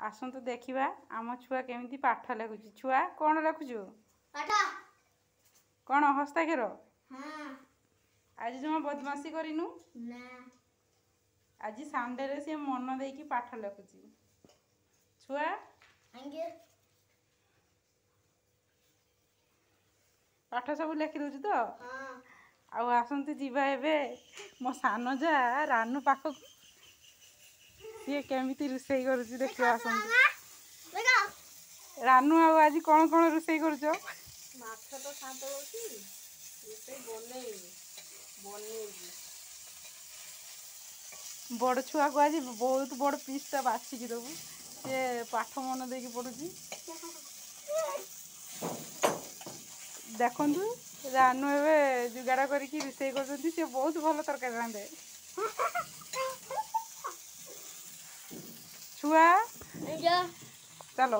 ଆସନ୍ତୁ ଦେଖିବା ଆମ ଛୁଆ କେମିତି ପାଠ ଲେଖୁଛି। ଛୁଆ କ'ଣ ଲେଖୁଛୁ? କ'ଣ ହସ୍ତାକ୍ଷର? ଆଜି ଜମା ବଦମାସି କରିନୁ? ଆଜି ସଣ୍ଡେରେ ସିଏ ମନ ଦେଇକି ପାଠ ଲେଖୁଛି। ଛୁଆ ପାଠ ସବୁ ଲେଖି ଦଉଛୁ ତ? ଆଉ ଆସନ୍ତୁ ଯିବା ଏବେ ମୋ ସାନ ଯା ରାନୁ ପାଖକୁ, ସିଏ କେମିତି ରୋଷେଇ କରୁଛି ଦେଖିବା ଆସନ୍ତୁ। ରାନୁ, ଆଉ ଆଜି କ'ଣ କ'ଣ ରୋଷେଇ କରୁଛ? ମାଛ ତ ସନ୍ତୁଳୁଛି, ରୋଷେଇ ବନେଇବି ବନେଇବି। ବଡ଼ ଛୁଆକୁ ଆଜି ବହୁତ ବଡ଼ ପିସ୍ଟା ବାଛିକି ଦେବୁ, ସେ ପାଠ ମନ ଦେଇକି ପଢ଼ୁଛି। ଦେଖନ୍ତୁ, ରାନୁ ଏବେ ଯୋଗାଡ଼ କରିକି ରୋଷେଇ କରୁଛନ୍ତି। ସେ ବହୁତ ଭଲ ତରକାରୀ ରାନ୍ଧେ। ଛୁଆ ଚାଲ।